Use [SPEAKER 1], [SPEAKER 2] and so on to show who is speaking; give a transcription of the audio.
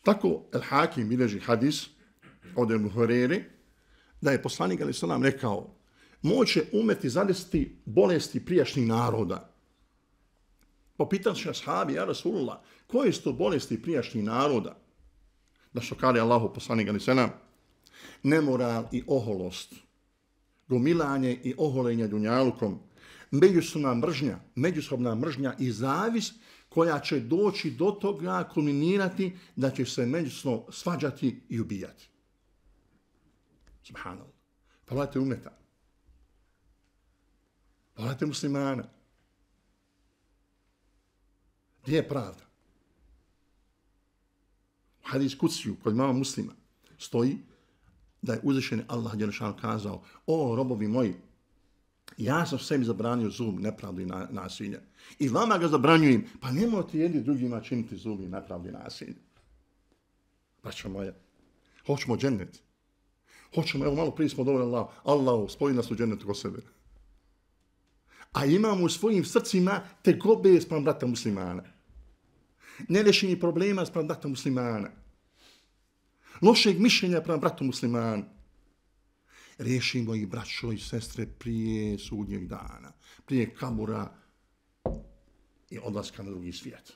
[SPEAKER 1] Tako El Hakim bilježi hadis od Ebu Hurere da je poslanik alejhi selam rekao: moće umeti zadesiti bolesti prijašnjih naroda. Popitali se ashabi: ja Rasulullah, koje su to bolesti prijašnjih naroda? Da što kaže Allahu poslanik alejhi selam: nemoral i oholost, gomilanje i oholenje dunjalukom, međusobna mržnja i zavis koja će doći do toga, kulminirati da će se međusobno svađati i ubijati. Subhanallah. Pogledajte umeta. Pogledajte muslimana. Gdje je pravda? U hadis kuciju kod mama muslima stoji da je uzvišeni Allah dželešanu kazao: o robovi moji, ja sam sebi zabranio zulum, nepravdu i nasilje. I vama ga zabranjujem, pa nemojte jedni drugima činiti zulum, nepravdu i nasilje. Braćo moje, hoćemo džennet. Hoćemo, evo malo prije smo dovoljno Allah spoji nas u džennetu ko sebe. A imamo u svojim srcima tegobe spram brata muslimana. Nerešeni problema spram brata muslimana. Lošeg mišljenja prema bratu muslimanu. Riješimo ih, braćo i sestre, prije sudnjeg dana, prije kabura i odlaska na drugi svijet.